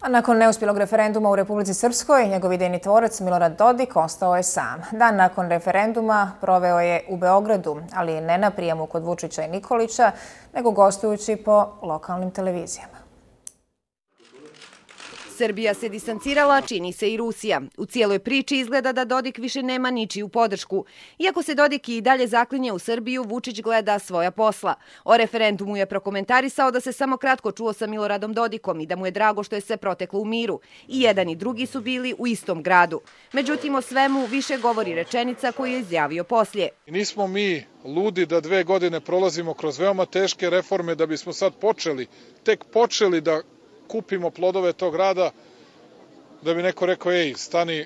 A nakon neuspjelog referenduma u Republici Srpskoj, njegov idejni tvorac Milorad Dodik ostao je sam. Dan nakon referenduma proveo je u Beogradu, ali ne na prijemu kod Vučića i Nikolića, nego gostujući po lokalnim televizijama. Srbija se distancirala, čini se i Rusija. U cijeloj priči izgleda da Dodik više nema ničiju podršku. Iako se Dodik i dalje zaklinje u Srbiju, Vučić gleda svoja posla. O referendumu je prokomentarisao da se samo kratko čuo sa Miloradom Dodikom i da mu je drago što je sve proteklo u miru. I jedan i drugi su bili u istom gradu. Međutim, o svemu više govori rečenica koju je izjavio poslije. Nismo mi ludi da 2 godine prolazimo kroz veoma teške reforme da bismo sad tek počeli da kupimo plodove tog rada, da bi neko rekao, ej, stani,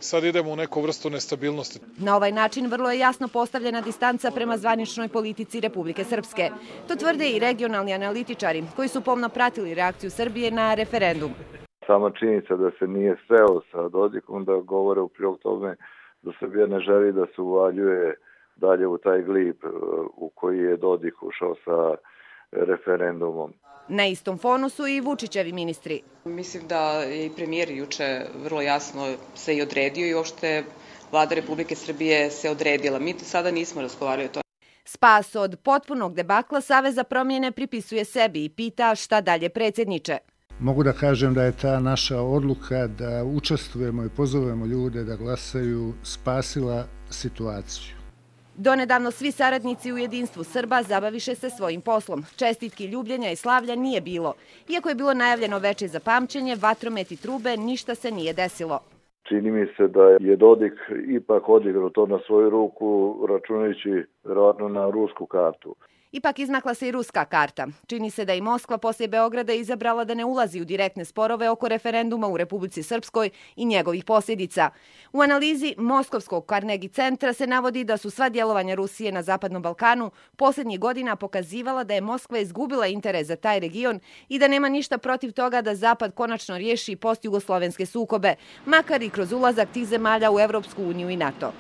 sad idemo u neku vrstu nestabilnosti. Na ovaj način vrlo je jasno postavljena distanca prema zvaničnoj politici Republike Srpske. To tvrde i regionalni analitičari koji su pomno pratili reakciju Srbije na referendum. Sama činjenica da se nije sreo sa Dodikom da govore u prilog tome da Srbija ne želi da se uvaljuje dalje u taj glib u koji je Dodik ušao sa referendumom. Na istom fonu su i Vučićevi ministri. Mislim da je i premijer juče vrlo jasno se i odredio i uopšte vlada Republike Srbije se odredila. Mi sada nismo razgovarali o tome. Spas od potpunog debakla Savez za promjene pripisuje sebi i pita šta dalje predsjedniče. Mogu da kažem da je ta naša odluka da učestvujemo i pozovemo ljude da glasaju spasila situaciju. Donedavno svi saradnici u jedinstvu Srba zabaviše se svojim poslom. Čestitki, ljubljenja i slavlja nije bilo. Iako je bilo najavljeno veče za pamćenje, vatromet i trube, ništa se nije desilo. Čini mi se da je Dodik ipak odigrao to na svoju ruku, računajući verovatno na rusku kartu. Ipak izmakla se i ruska karta. Čini se da i Moskva poslije Beograda izabrala da ne ulazi u direktne sporove oko referenduma u Republici Srpskoj i njegovih posljedica. U analizi Moskovskog Carnegie centra se navodi da su sva djelovanja Rusije na Zapadnom Balkanu posljednjih godina pokazivala da je Moskva izgubila interes za taj region i da nema ništa protiv toga da Zapad konačno riješi postjugoslovenske sukobe, makar i kroz ulazak tih zemalja u Evropsku uniju i NATO.